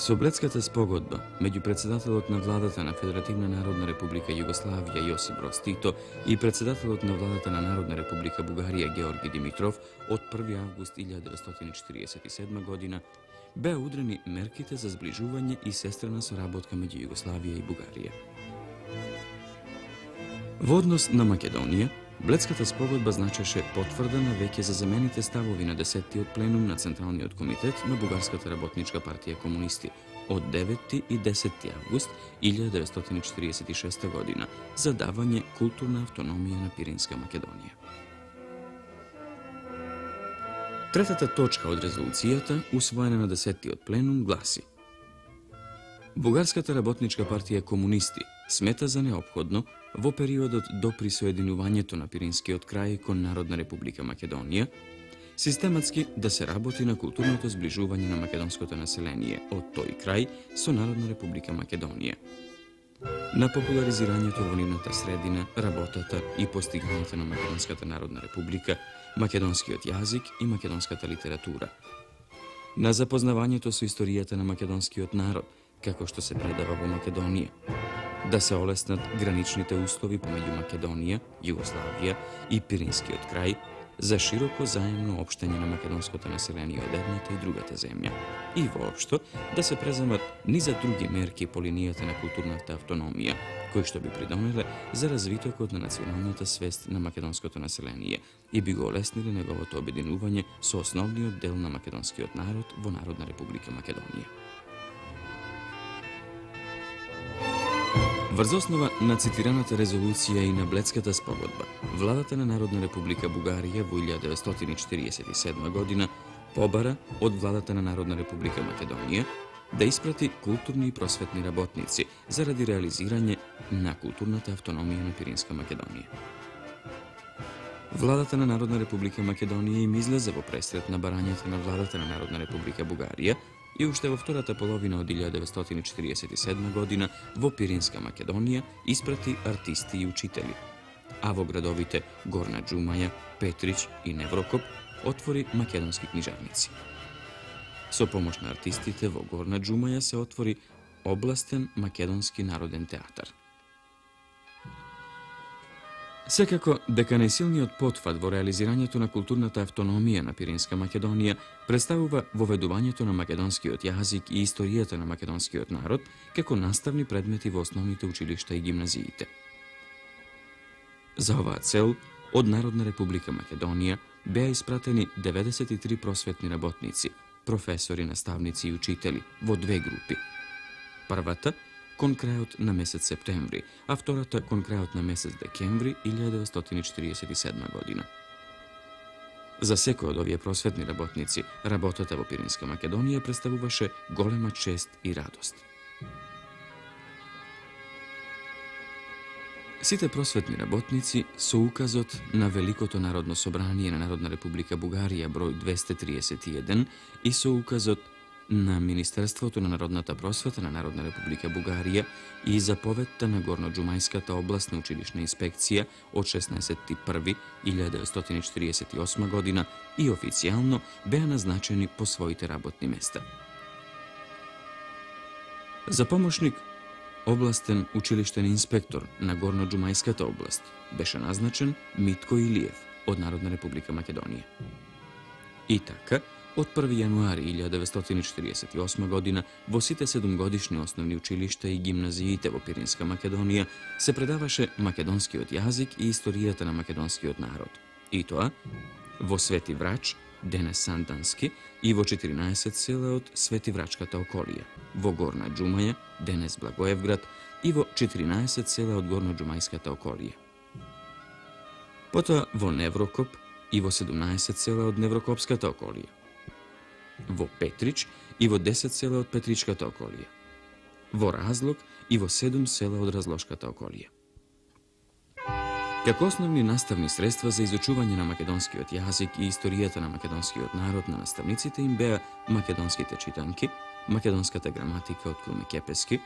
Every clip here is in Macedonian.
Со Бледската спогодба меѓу председателот на владата на Федеративна народна република Југославија Јосип Броз Тито и председателот на владата на Народна република Бугарија Георги Димитров од 1 август 1947 година беа удрени мерките за зближување и сестрена соработка меѓу Југославија и Бугарија. Во однос на Македонија, Бледската спогодба значеше потврда на веќе за замените ставови на 10-тиот пленум на Централниот комитет на Бугарската работничка партија комунисти од 9 и 10 август 1946 година за давање културна автономија на Пиринска Македонија. Третата точка од резолуцијата, усвоена на 10-тиот пленум, гласи: Бугарската работничка партија комунисти смета за неопходно во периодот до присоединувањето на Пиринскиот крај кон Народна република Македонија, систематски да се работи на културното зближување на македонското население од тој крај со Народна република Македонија, на популаризирањето во нивната средина, работата и постигањето на Македонската народна република, македонскиот јазик и македонската литература, на запознавањето со историјата на македонскиот народ, како што се предава во Македонија, да се олеснат граничните услови помеѓу Македонија, Југославија и Пиринскиот крај за широко заемно општање на македонското население од едната и другата земја и воопшто да се преземат низа други мерки по линијата на културната автономија, кои што би придонеле за развитокот на националната свест на македонското население и би го олесниле неговото обединување со основниот дел на македонскиот народ во Народна република Македонија. Врз основа на цитираната резолуција и на Бледската спогодба, владата на Народна република Бугарија во 1947 година побара од владата на Народна република Македонија да испрати културни и просветни работници заради реализирање на културната автономија на Пиринска Македонија. Владата на Народна република Македонија им излезе во пресрет на барањата на владата на Народна република Бугарија и уште во втората половина од 1947 година во Пиринска Македонија испрати артисти и учители, а во градовите Горна Џумаја, Петрич и Неврокоп отвори македонски книжарници. Со помош на артистите во Горна Џумаја се отвори областен македонски народен театар. Секако дека најсилниот потфат во реализирањето на културната автономија на Пиринска Македонија представува воведувањето на македонскиот јазик и историјата на македонскиот народ како наставни предмети во основните училишта и гимназиите. За оваа цел, од Народна република Македонија беа испратени 93 просветни работници, професори, наставници и учители во две групи. Првата кон крајот на месец септември, а втората кон крајот на месец декември 1947 година. За секој од овие просветни работници, работата во Пиринска Македонија представуваше голема чест и радост. Сите просветни работници со указот на Великото народно собрание на Народна република Бугарија број 231 и со указот на Министерството на народната просвета на Народна република Бугарија и заповедта на Горноџумајската областна училишна инспекција од 16.1.1948 година и официјално беа назначени по своите работни места. За помошник областен училиштен инспектор на Горноџумајската област беше назначен Митко Илиев од Народна република Македонија. И така, од 1 јануари 1948 година во сите 7-годишни основни училишта и гимназиите во Пиринска Македонија се предаваше македонскиот јазик и историјата на македонскиот народ. И тоа во Свети Врач, денес Сандански, и во 14 села од Свети Врачката околија, во Горна Џумаја, денес Благоевград, и во 14 села од Горноџумајската околија. Потоа во Неврокоп и во 17 села од Неврокопската околија, во Петрич и во 10 села од Петричката околија, во Разлог и во 7 села од Разлошката околија. Како основни наставни средства за изучување на македонскиот јазик и историјата на македонскиот народ на наставниците им беа македонските читанки, македонската граматика од Круме Кепески,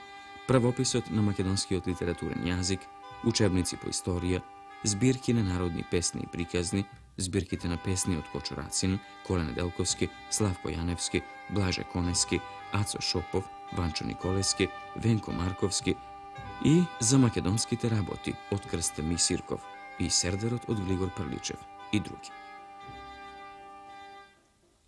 правописот на македонскиот литературен јазик, учебници по историја, збирки на народни песни и приказни, збирките на песни од Кочо Рацин, Коле Неделковски, Славко Јаневски, Блаже Конески, Ацо Шопов, Ванчо Николески, Венко Марковски и за македонските работи од Крстеми Сирков и Сердерот од Глигор Прличев и други.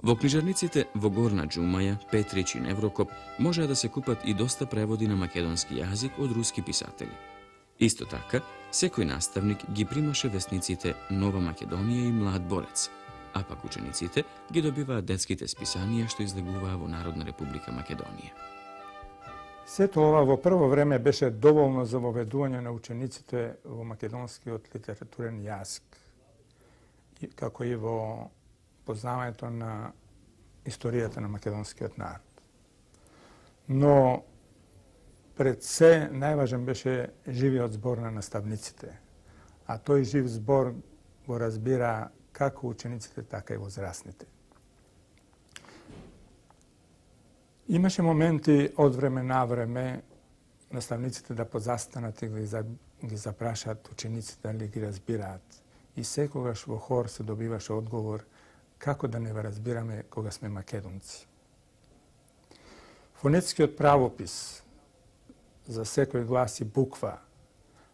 Во книжарниците во Горна Џумаја, Петрич и Неврокоп можеа да се купат и доста преводи на македонски јазик од руски писатели. Исто така, секој наставник ги примаше весниците Нова Македонија и Млад борец, а пак учениците ги добиваат детските списанија што излегуваа во Народна република Македонија. Сето ова во прво време беше доволно за воведување на учениците во македонскиот литературен јазик, како и во познавањето на историјата на македонскиот народ. Но пред се најважен беше живиот збор на наставниците, а тој жив збор го разбира како учениците, така и возрастните. Имаше моменти од време на време наставниците да позастанат и ги запрашаат учениците дали ги разбираат. И секогаш во хор се добиваше одговор како да не ве разбираме кога сме македонци. Фонетскиот правопис за секој глас и буква,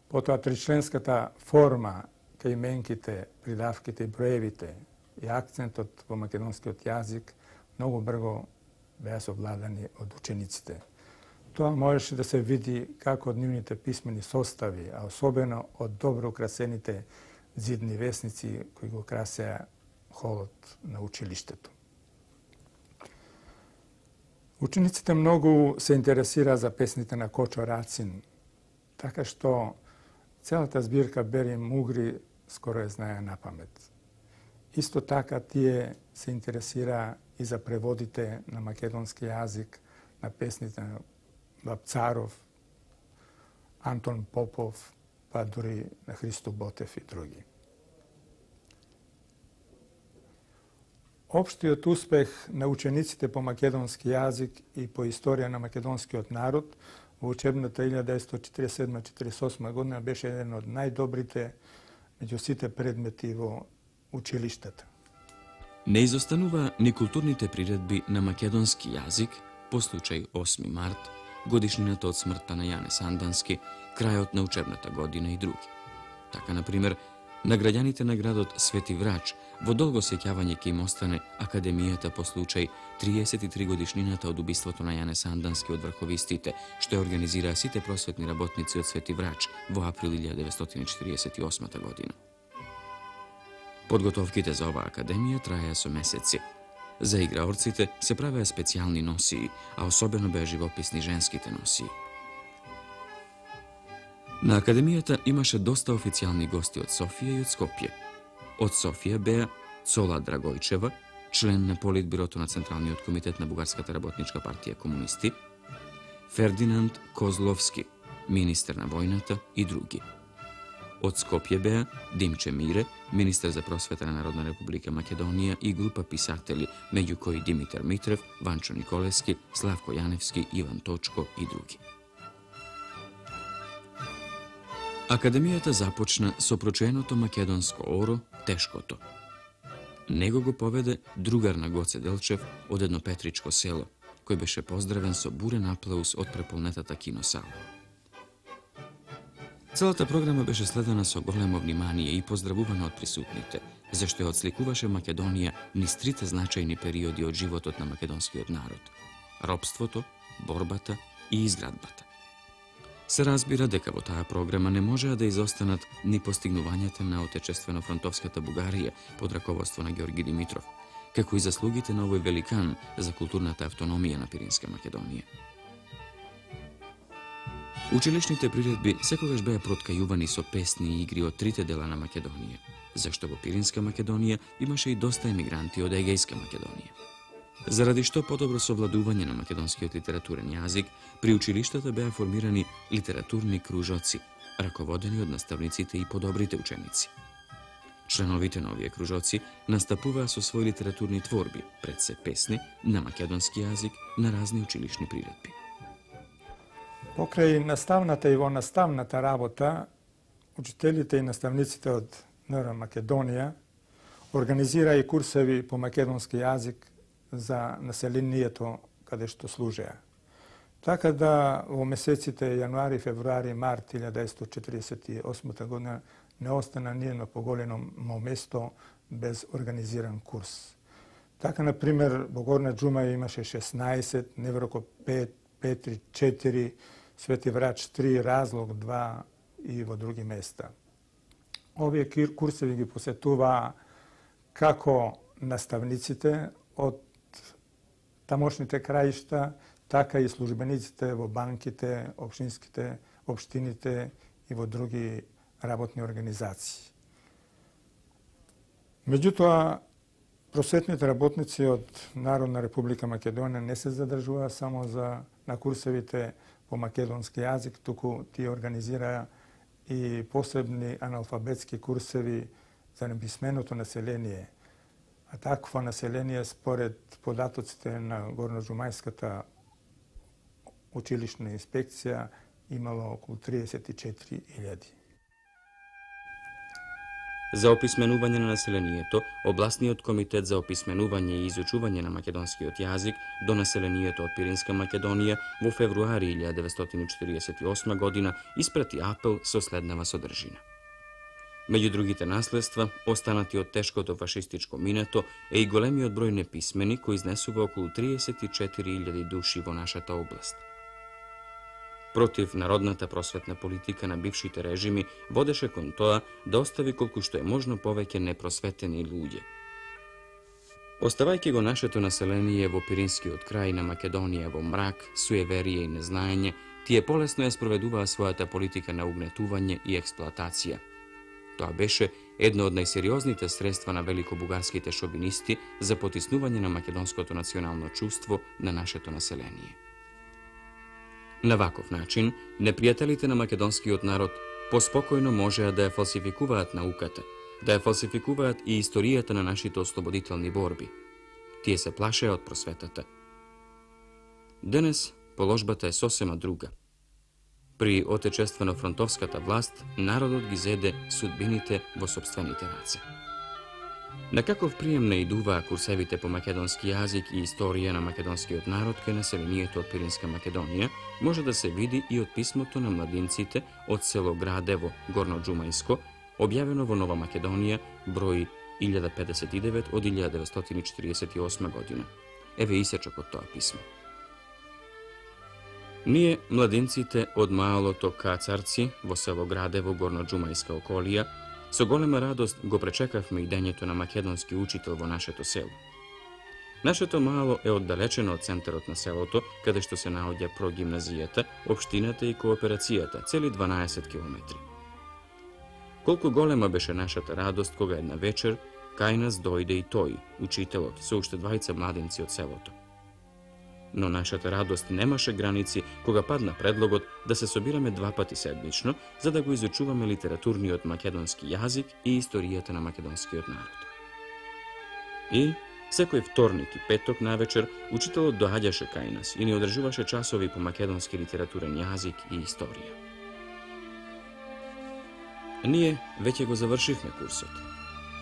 потоа тричленската форма кај именките, придавките и броевите и акцентот во македонскиот јазик многу брзо беа совладани од учениците. Тоа можеше да се види како од нивните писмени состави, а особено од добро украсените зидни весници кои го красеа холот на училиштето. Учениците многу се интересираа за песните на Кочо Рацин, така што целата збирка Бери Мугри скоро ја знаеа на памет. Исто така тие се интересираа и за преводите на македонски јазик на песните на Вапцаров, Антон Попов, па дури на Христо Ботев и други. Општиот успех на учениците по македонски јазик и по историја на македонскиот народ во учебната 1947-48 година беше еден од најдобрите меѓу сите предмети во училиштата. Не изостанува ни културните приредби на македонски јазик по случај 8 март, годишнината од смртта на Јане Сандански, крајот на учебната година и други. Така, например, на граѓаните на градот Свети Врач во долго сеќавање ќе им остане Академијата по случај 33 годишнината од убиството на Јане Сандански од врховистите, што ја организираа сите просветни работници од Свети Врач во април 1948 година. Подготовките за оваа академија траеа со месеци. За играорците се правеа специјални носии, а особено беа живописни женските носии. На академијата имаше доста официјални гости од Софија и од Скопје. Од Софија беа Цола Драгојчева, член на Политбирото на Централниот комитет на Бугарската работничка партија комунисти, Фердинанд Козловски, министер на војната и други. Од Скопје беа Димче Мире, министер за просвета на Народна република Македонија и група писатели, меѓу кои Димитар Митрев, Ванчо Николески, Славко Јаневски, Иван Точко и други. Академијата започна со проченото македонско оро Тешкото. Него го поведе другар на Гоце Делчев од едно петричко село, кој беше поздравен со бурен аплауз од преполнетата киносала. Целата програма беше следена со големо внимание и поздравувана од присутните, зашто ја отсликуваше Македонија низ трите значајни периоди од животот на македонскиот народ – робството, борбата и изградбата. Се разбира дека во таа програма не можеа да изостанат ни постигнувањата на отечествено-фронтовската Бугарија под раководство на Ѓорги Димитров, како и заслугите на овој великан за културната автономија на Пиринска Македонија. Училишните приредби секогаш беа проткајувани со песни и игри од трите дела на Македонија, зашто во Пиринска Македонија имаше и доста емигранти од Егејска Македонија. Заради што подобро совладување на македонскиот литературен јазик, при училиштата беа формирани литературни кружоци, раководени од наставниците и подобрите ученици. Членовите на овие кружоци настапуваа со своји литературни творби, пред се песни, на македонски јазик, на разни училишни приредби. Покрај наставната и во наставната работа, учителите и наставниците од НР Македонија организираа и курсеви по македонски јазик за населението каде што служеа. Така да во месеците јануари, февруари, март 1948 година не остана ниедно поголемо место без организиран курс. Така, например, во Горна Џумаја имаше 16, Невроко 5, Петри 4, Свети Врач 3, Разлог 2 и во други места. Овие курсеви ги посетуваа како наставниците од тамошните краишта, така и службениците во банките, општините и во други работни организации. Меѓутоа, просветните работници од Народна република Македонија не се задржуваа само на курсевите по македонски јазик, туку тие организираа и посебни аналфабетски курсеви за неписменото население. А такво население, според податоците на Горноџумајската училишна инспекција, имало околу 34.000. За описменување на населението, Областниот комитет за описменување и изучување на македонскиот јазик до населението од Пиринска Македонија во февруари 1948 година испрати апел со следнава содржина. Меѓу другите наследства, останати од тешкото фашистичко минато е и големиот број неписмени кои изнесува околу 34.000 души во нашата област. Против народната просветна политика на бившите режими водеше кон тоа да остави колку што е можно повеќе непросветени луѓе. Оставајќи го нашето население во Пиринскиот крај на Македонија во мрак, суеверие и незнаење, тие полесно ја спроведуваа својата политика на угнетување и експлоатација. Тоа беше едно од најсериозните средства на великобугарските шовинисти за потиснување на македонското национално чувство на нашето население. На ваков начин, непријателите на македонскиот народ поспокојно можеа да ја фалсификуваат науката, да ја фалсификуваат и историјата на нашите ослободителни борби. Тие се плашеа од просветата. Денес положбата е сосема друга. При отечествено-фронтовската власт, народот ги зеде судбините во сопствените раце. На каков прием наидуваа курсевите по македонски јазик и историја на македонскиот народ кај населението од Пиринска Македонија, може да се види и од писмото на младинците од село Градево, Горноџумајско, објавено во Нова Македонија, број 1059 од 1948 година. Еве исечок од тоа писмо. Ние, младинците од малото Кацарци во село Градево, Горноџумајска околија, со голема радост го пречекавме идењето на македонски учител во нашето село. Нашето мало е оддалечено од центарот на селото, каде што се наоѓа прогимназијата, општината и кооперацијата, цели 12 километри. Колку голема беше нашата радост кога една вечер кај нас дојде и тој, учителот, со уште двајца младенци од селото. Но нашата радост немаше граници кога падна предлогот да се собираме 2 пати седмично, за да го изучуваме литературниот македонски јазик и историјата на македонскиот народ. И секој вторник и петок навечер учителот доаѓаше кај нас и ни одржуваше часови по македонски литературен јазик и историја. Ние веќе го завршивме курсот.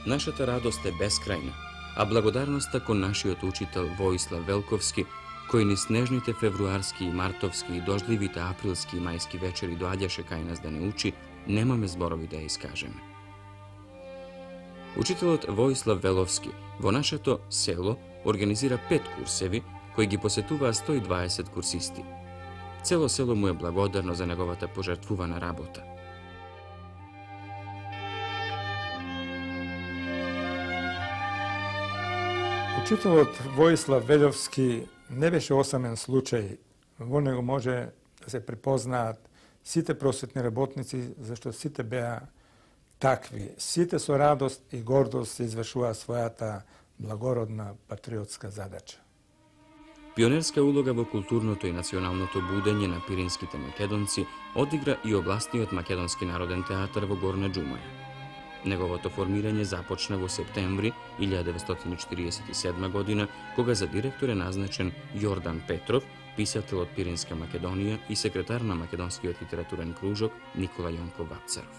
Нашата радост е бескрајна, а благодарноста кон нашиот учител Воислав Велковски, кој ни снежните февруарски и мартовски и дождливите априлски и мајски вечери доаѓаше кај нас да не учи, немаме зборови да ја искажеме. Учителот Воислав Веловски во нашето село организира 5 курсеви кои ги посетуваа 120 курсисти. Цело село му е благодарно за неговата пожртвувана работа. Учителот Воислав Веловски не беше осамен случај. Во него може да се препознаат сите просветни работници, зашто сите беа такви. Сите со радост и гордост се извршуваа својата благородна патриотска задача. Пионерска улога во културното и националното будење на пиринските македонци одигра и областниот македонски народен театар во Горна Џумаја. Неговото формирање започна во септември 1947 година, кога за директор е назначен Јордан Петров, писател од Пиринска Македонија и секретар на Македонскиот литературен кружок Никола Јонков Вапцаров.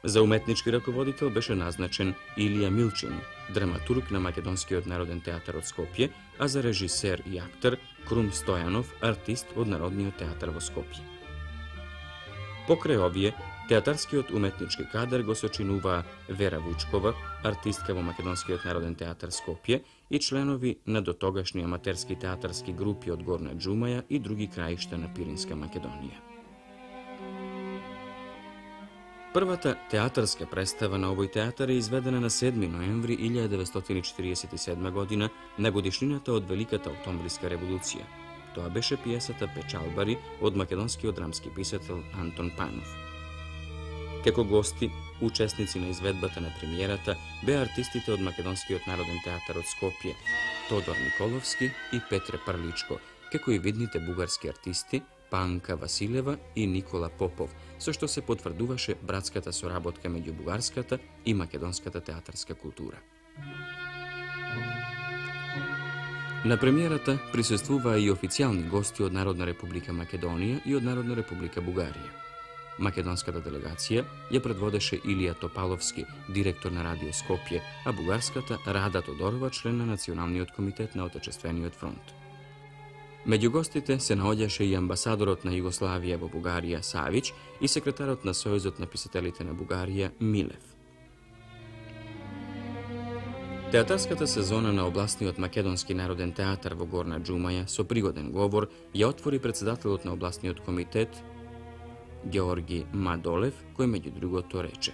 За уметнички раководител беше назначен Илија Милчин, драматург на Македонскиот народен театар од Скопје, а за режисер и актер Крум Стојанов, артист од Народниот театар во Скопје. Покрај овие, театарскиот уметнички кадар го сочинуваа Вера Вучкова, артистка во Македонскиот народен театар Скопје и членови на дотогашни аматерски театарски групи од Горна Џумаја и други краишта на Пиринска Македонија. Првата театарска представа на овој театар е изведена на 7 ноември 1947 година на годишнината од Великата октомвриска револуција. Тоа беше пиесата Печалбари од македонскиот драмски писател Антон Панов. Како гости, учесници на изведбата на премиерата беа артистите од Македонскиот народен театар од Скопје, Тодор Николовски и Петре Парличко, како и видните бугарски артисти Панка Василева и Никола Попов, со што се потврдуваше братската соработка меѓу бугарската и македонската театарска култура. На премиерата присуствуваа и официјални гости од Народна република Македонија и од Народна република Бугарија. Македонската делегација ја предводеше Илија Топаловски, директор на Радио Скопје, а бугарската Рада Тодорова, член на Националниот комитет на Отечествениот фронт. Меѓу гостите се наоѓаше и амбасадорот на Југославија во Бугарија Савич и секретарот на Сојузот на писателите на Бугарија Милев. Театарската сезона на областниот Македонски народен театар во Горна Џумаја со пригоден говор ја отвори председателот на областниот комитет Георги Мадолев, кој меѓу другото рече: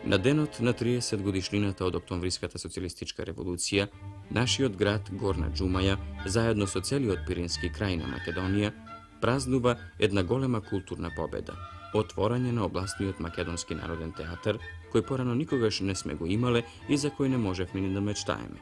На денот на 30 годишнината од Октомвриската социјалистичка револуција, нашиот град Горна Џумаја, заедно со целиот Пирински крај на Македонија, празнува една голема културна победа – отворање на областниот Македонски народен театар, кој порано никогаш не сме го имале и за кој не можевме ни да мечтаеме.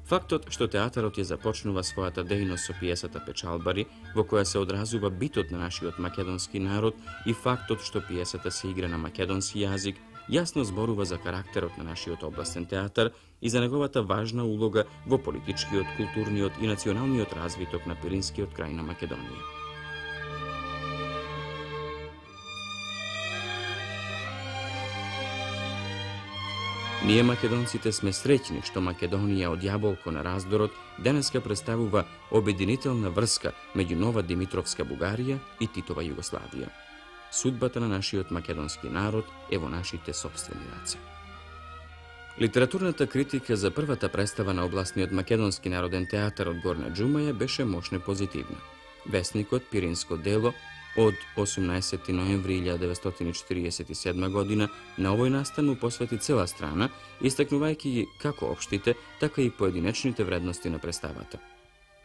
Фактот што театарот ја започнува својата дејност со пиесата Печалбари, во која се одразува битот на нашиот македонски народ, и фактот што пиесата се игра на македонски јазик, јасно зборува за карактерот на нашиот областен театар и за неговата важна улога во политичкиот, културниот и националниот развиток на Пиринскиот крај на Македонија. Ние македонците сме среќни што Македонија од јаболко на раздорот денеска представува обединителна врска меѓу нова Димитровска Бугарија и Титова Југославија. Судбата на нашиот македонски народ е во нашите сопствени раце. Литературната критика за првата представа на областниот Македонски народен театар од Горна Џумаја беше мощно позитивна. Весникот Пиринско дело од 18 ноември 1947 година на овој настан му посвети цела страна, истакнувајќи ги како општите, така и поединечните вредности на представата.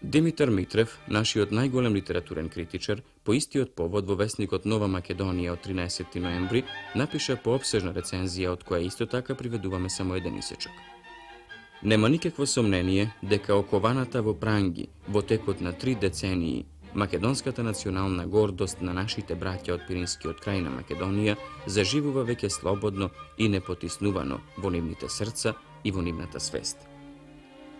Димитар Митрев, нашиот најголем литературен критичар, по истиот повод во весникот Нова Македонија од 13 ноември напиша поопсежна рецензија од која исто така приведуваме само еден исечок. Нема никакво сомнение дека окованата во пранги во текот на 3 децении македонската национална гордост на нашите браќа од Пиринскиот крај на Македонија заживува веќе слободно и непотиснувано во нивните срца и во нивната свест.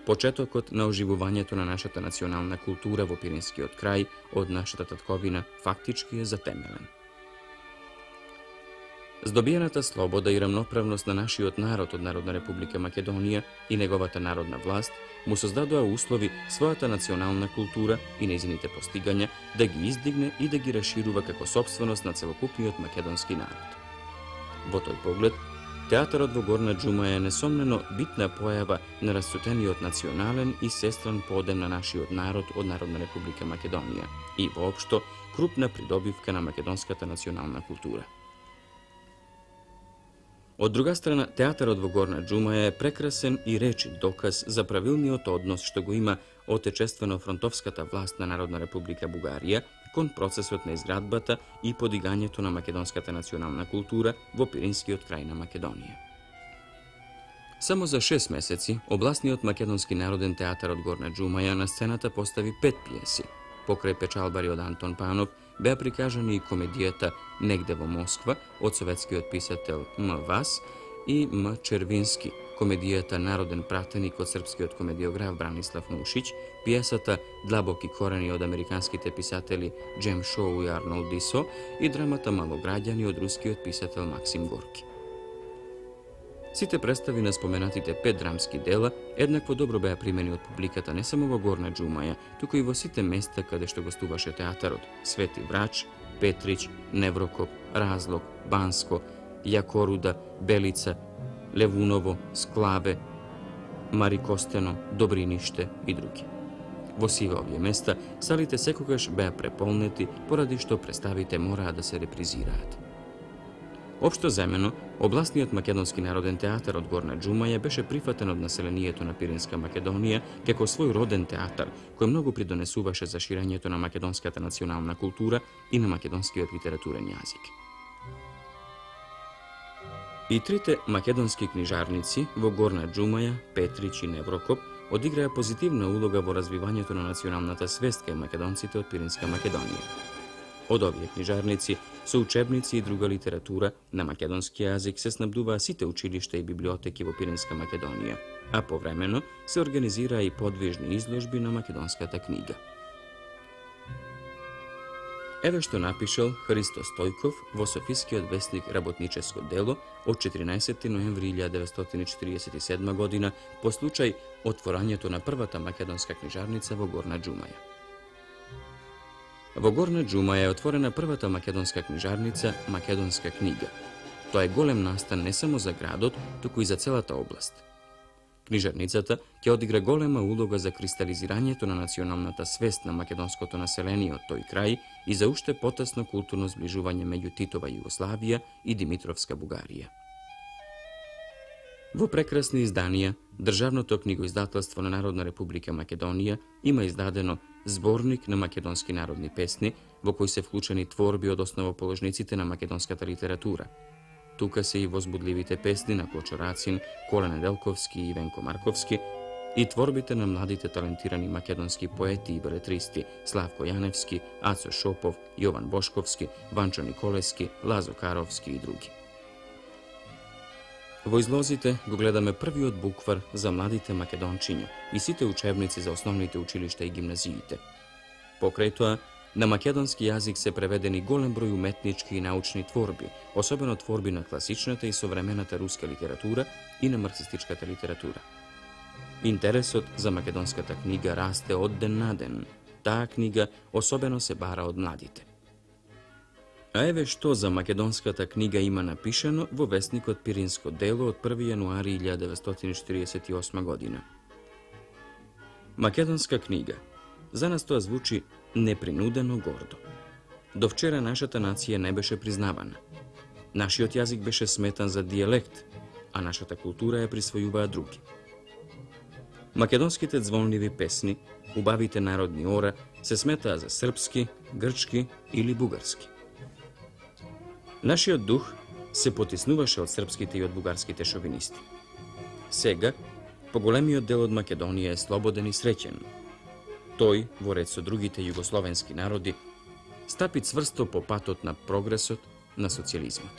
Почетокот на оживувањето на нашата национална култура во Пиринскиот крај од нашата татковина фактички е затемелен. Здобиената слобода и рамноправност на нашиот народ од Народна република Македонија и неговата народна власт му создадоа услови својата национална култура и нејзините постигања да ги издигне и да ги расширува како сопственост на целокупниот македонски народ. Во тој поглед, театарот во Горна Џумаја е несомнено битна појава на расцутениот национален и сестран подем на нашиот народ од Народна република Македонија и воопшто крупна придобивка на македонската национална култура. Од друга страна, театарот во Горна Џумаја е прекрасен и речит доказ за правилниот однос што го има отечествено-фронтовската власт на Народна република Бугарија кон процесот на изградбата и подигањето на македонската национална култура во Пиринскиот крај на Македонија. Само за 6 месеци, областниот Македонски народен театар од Горна Џумаја на сцената постави 5 пиеси. Покрај Печалбари од Антон Панов беа прикажани и комедијата Негде во Москва од советскиот писател М. Вас и М. Червински, комедијата Народен пратеник од српскиот комедиограф Бранислав Нушиć, пиесата Длабоки корени од американските писатели Джем Шоу и Арнолд Дисо и драмата Малограѓани од рускиот писател Максим Горки. Сите представи на споменатите 5 драмски дела еднакво добро беа примени од публиката не само во Горна Џумаја, туку и во сите места каде што гостуваше театарот: Свети Врач, Петрич, Неврокоп, Разлог, Банско, Јакоруда, Белица, Левуново, Склаве, Марикостено, Добриниште и други. Во сиве овие места салите секогаш беа преполнети поради што представите мораа да се репризираат. Општо земено, областниот македонски народен театар од Горна Џумаја беше прифатен од населението на Пиринска Македонија како свој роден театар, кој многу придонесуваше за ширењето на македонската национална култура и на македонскиот литературен јазик. И трите македонски книжарници во Горна Џумаја, Петрич и Неврокоп одиграа позитивна улога во развивањето на националната свест кај македонците од Пиринска Македонија. Од овие книжарници, со учебници и друга литература на македонски јазик се снабдуваа сите училишта и библиотеки во Пиринска Македонија, а повремено се организираа и подвижни изложби на македонската книга. Еве што напишал Христо Стојков во Софискиот весник Работническо дело од 14. ноември 1947 година по случај отворањето на првата македонска книжарница во Горна Џумаја. Во Горна Џумаја е отворена првата македонска книжарница Македонска книга. Тоа е голем настан не само за градот, туку и за целата област. Книжарницата ќе одигра голема улога за кристализирањето на националната свест на македонското население од тој крај и за уште потесно културно зближување меѓу Титова Југославија и Димитровска Бугарија. Во прекрасни изданија, Државното книгоиздателство на Народна република Македонија има издадено Зборник на македонски народни песни, во кој се вклучени творби од основоположниците на македонската литература. Тука се и возбудливите песни на Кочо Рацин, Коле Неделковски и Венко Марковски и творбите на младите талентирани македонски поети и белетристи Славко Јаневски, Ацо Шопов, Јован Бошковски, Ванчо Николески, Лазо Каровски и други. Во излозите го гледаме првиот буквар за младите македончиња и сите учебници за основните училишта и гимназиите. Покрај тоа, на македонски јазик се преведени голем број уметнички и научни творби, особено творби на класичната и современата руска литература и на марксистичката литература. Интересот за македонската книга расте од ден на ден. Таа книга особено се бара од младите. А еве што за македонската книга има напишано во весникот Пиринско дело од 1. јануари 1948 година. Македонска книга. За нас тоа звучи непринудено гордо. До вчера нашата нација не беше признавана. Нашиот јазик беше сметан за дијелект, а нашата култура ја присвојуваа други. Македонските звонливи песни, убавите народни ора, се сметаа за српски, грчки или бугарски. Нашиот дух се потиснуваше од српските и од бугарските шовинисти. Сега, поголемиот дел од Македонија е слободен и среќен. Тој, во ред со другите југословенски народи, стапи цврсто по патот на прогресот, на социјализмот.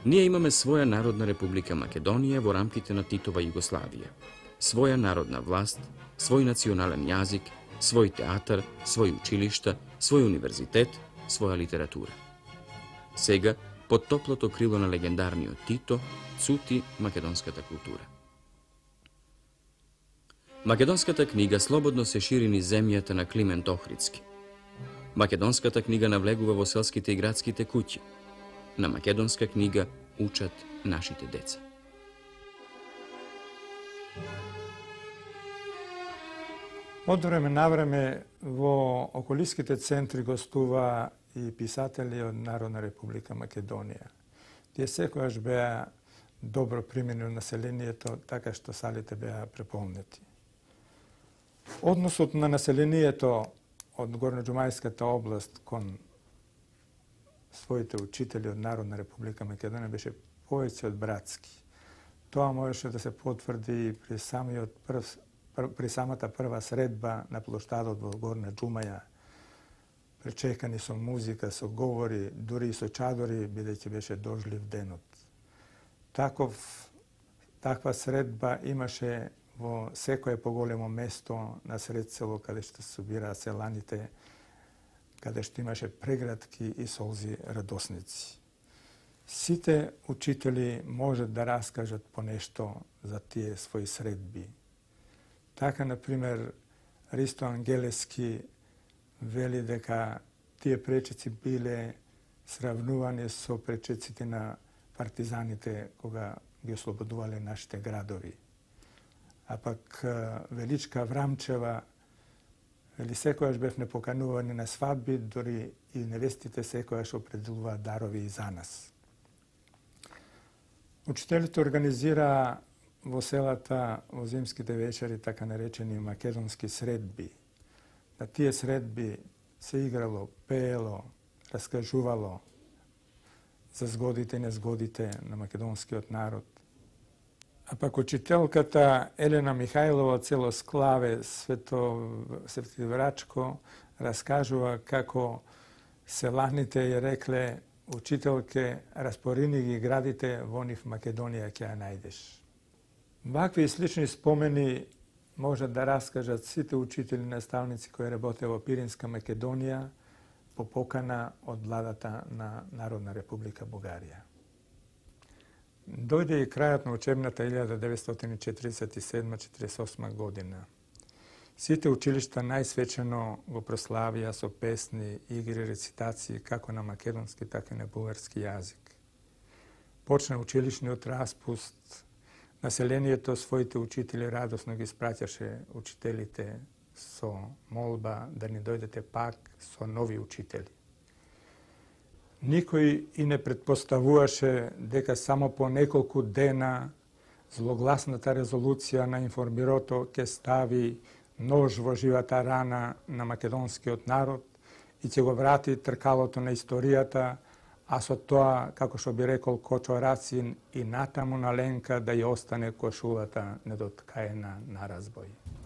Ние имаме своја Народна република Македонија во рамките на Титова Југославија, своја народна власт, свој национален јазик, свој театар, свој училишта, свој универзитет, своја литература. Сега, под топлото крило на легендарниот Тито, цути македонската култура. Македонската книга слободно се шири низ земјата на Климент Охридски. Македонската книга навлегува во селските и градските куќи. На македонска книга учат нашите деца. Од време на време во околиските центри гостува и писатели од Народна република Македонија. Тие секогаш беа добро примени од населението, така што салите беа преполнети. Односот на населението од Горноџумајската област кон своите учители од Народна република Македонија беше повеќе од братски. Тоа можеше да се потврди при самата прва средба на плоштадот во Горна Џумаја, пречекани со музика, со говори, дури и со чадори, бидејќи беше дожлив денот. Таков Таква средба имаше во секое поголемо место на сред село, каде што се собираа селаните, каде што имаше прегратки и солзи радосници. Сите учители можат да раскажат по нешто за тие своји средби. Така, например, Ристо Ангелески вели дека тие пречици биле сравнувани со пречиците на партизаните кога ги ослободувале нашите градови. А пак Величка Врамчева вели секојаш бевме поканувани на свадби, дори и невестите секојаш определуваат дарови и за нас. Учителите организираа во селата во зимските вечери така наречени македонски средби. На тие средби се играло, пеело, раскажувало за згодите и незгодите на македонскиот народ. А пак учителката Елена Михајлова од село Склаве, Светиврачко, раскажува како селаните ја рекле: учителке, распорини ги градите, во нив Македонија ќе ја најдеш. Вакви и слични спомени можат да раскажат сите учители и наставници кои работеа во Пиринска Македонија по покана од владата на Народна република Бугарија. Дојде и крајот на учебната 1947-48 година. Сите училишта најсвечено го прославија со песни, игри, рецитации како на македонски, така и на бугарски јазик. Почна училишниот распуст. Населението своите учители радосно ги спраќаше учителите со молба да ни дојдете пак со нови учители. Никој и не предпоставуваше дека само по неколку дена злогласната резолуција на информбирото ќе стави нож во живата рана на македонскиот народ и ќе го врати тркалото на историјата, а со тоа, како што би рекол Кочо Рацин, и натаму на Ленка да ја остане кошулата недоткаена на разбој.